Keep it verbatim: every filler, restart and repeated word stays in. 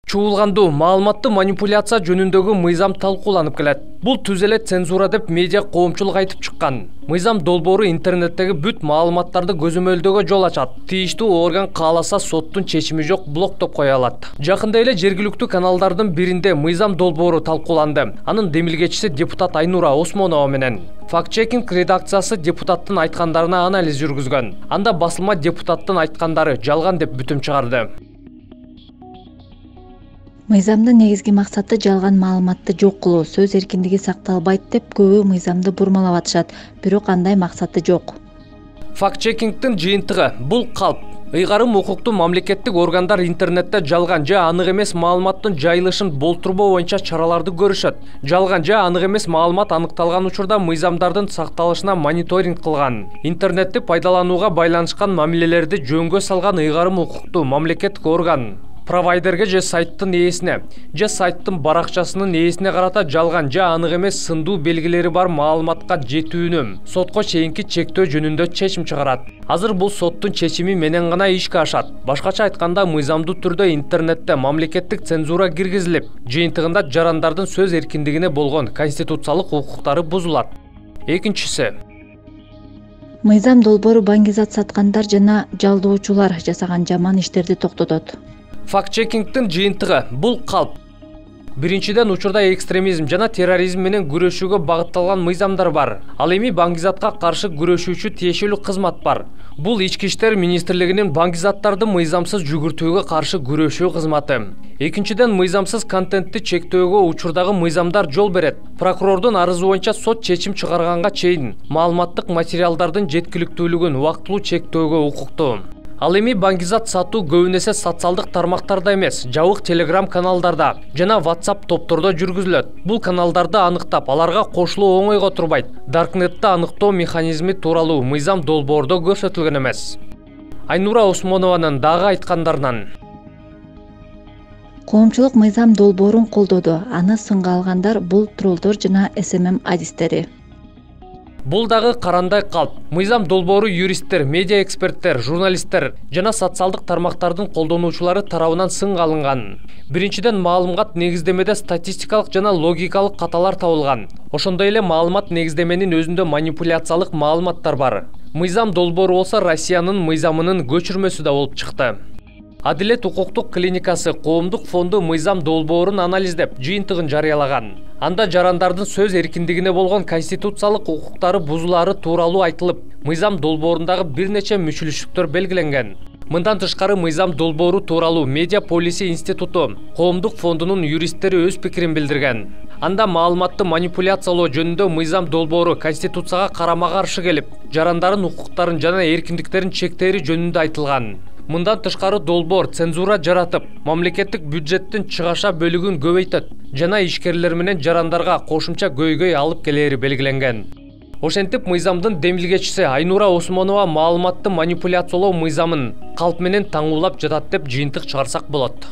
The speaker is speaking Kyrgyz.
Чуулгандуу маалыматты манипуляция жөнүндөгү мыйзам талкууланып келет. Бул түз эле цензура деп медиа коомчулук айтып чыккан. Мыйзам долбоору интернеттеги бүт маалыматтарды көзөмөлдөөгө жол ачат. Тийиштүү орган кааласа соттун чечими жок блоктоп кое алат. Жакында эле жергиликтүү каналдардын биринде мыйзам долбоору талкууланды. Анын демилгечиси депутат Айнура Осмонова менен. Факт-чекинг редакциясы депутаттын айткандарына анализ жүргүзгөн. Анда басылма депутаттын айткандары жалган деп бүтүм чыгарды. Мыйзамдын негизги максаты жалган маалыматты жок кылуу, сөз эркиндиги сакталбайт деп көбү мыйзамды бурмалап атышат, бирок андай максаты жок. Факт-чекингдин жыйынтыгы бул калп. Ыйгарым укуктуу мамлекеттик органдар интернетте жалган же анык эмес маалыматтын жайылышын болтурбоо боюнча чараларды көрүшөт. Жалган же анык эмес маалымат аныкталган учурда мыйзамдардын сакталышына мониторинг кылган. Интернетти пайдаланууга байланышкан мамилелерди жөнгө салган ыйгарым укуктуу мамлекеттик орган провайдерге же сайттын ээсине же сайттын баракчасынын ээсине карата жалган же анык эмес сындуу белгилери бар маалыматка жетүүнү сотко чейинки чектөө жөнүндө чечим чыгарат. Азыр бул соттун чечими менен гана ишке ашат. Башкача айтканда, мыйзамдуу түрдө интернетте мамлекеттик цензура киргизилип, жыйынтыгында жарандардын сөз эркиндигине болгон конституциялык укуктары бузулат. Экинчиси, мыйзам долбоору баңгизат саткандар жана жалдоочулар жасаган жаман иштерди токтотот. Факт-чекингдин жыйынтыгы бул калп. Биринчиден, учурда экстремизм жана терроризм менен күрөшүүгө багытталган мыйзамдар бар. Ал эми баңгизатка каршы күрөшүүчү тиешелүү кызмат бар. Бул Ички иштер министрлигинин баңгизаттарды мыйзамсыз жүгүртүүгө каршы күрөшүү кызматы. Экинчиден, мыйзамсыз контентти чектөөгө учурдагы мыйзамдар жол берет. Прокурордун арызы боюнча сот чечим чыгарганга чейин маалыматтык материалдардын жеткиликтүүлүгүн убактылуу чектөөгө укуктуу. Ал эми баңгизат сатуу көбүн эсе социалдык тармактарда эмес, жабык телеграм каналдарда жана WhatsApp топтордо жүргүзүлөт. Бул каналдарды аныктап, аларга кошулуу оңойго турбайт. Даркнетти аныктоо механизми тууралуу мыйзам долбоордо көрсөтүлгөн эмес. Айнура Осмонованын дагы айткандарынан: Коомчулук мыйзам долбоорун колдоду. Аны сынга алгандар бул троллдор жана эс эм эм адистери. Бул дагы карандай калп. Мыйзам долбоору юристтер, медиа эксперттер, журналисттер жана социалдык тармактардын колдонуучулары тарабынан сынга алынган. Биринчиден, маалымат негиздемеде статистикалык жана логикалык каталар табылган. Ошондой эле маалымат негиздеменин өзүндө манипуляциялык маалыматтар бар. Мыйзам долбоору болсо Россиянын мыйзамынын көчүрмөсү да болуп чыкты. Адилет укуктук клиникасы коомдук фонду мыйзам долбоорун анализдеп, жыйынтыгын жарыялаган. Анда жарандардын сөз эркиндигине болгон конституциялык укуктары бузулаары тууралуу айтылып, мыйзам долбоорундагы бир нече мүчүлүштүктөр белгиленген. Мындан тышкары, мыйзам долбоору тууралуу Медиа Полиси институту коомдук фондунун юристтери өз пикирин билдирген. Анда маалыматты манипуляциялоо жөнүндө мыйзам долбоору конституцияга карама каршы келип, жарандардын укуктарын жана эркиндиктерин чектери жөнүндө айтылган. Мындан тышкары, долбоор цензура жаратып, мамлекеттик бюджеттин чыгаша бөлүгүн көбөйтөт жана ишкерлер менен жарандарга кошумча көйгөй алып келери белгиленген. Ошентип, мыйзамдын демилгечиси Айнура Осмонова маалыматты манипуляциялоо мыйзамын калп менен таңуулап жатат деп жыйынтык чыгарсак болот.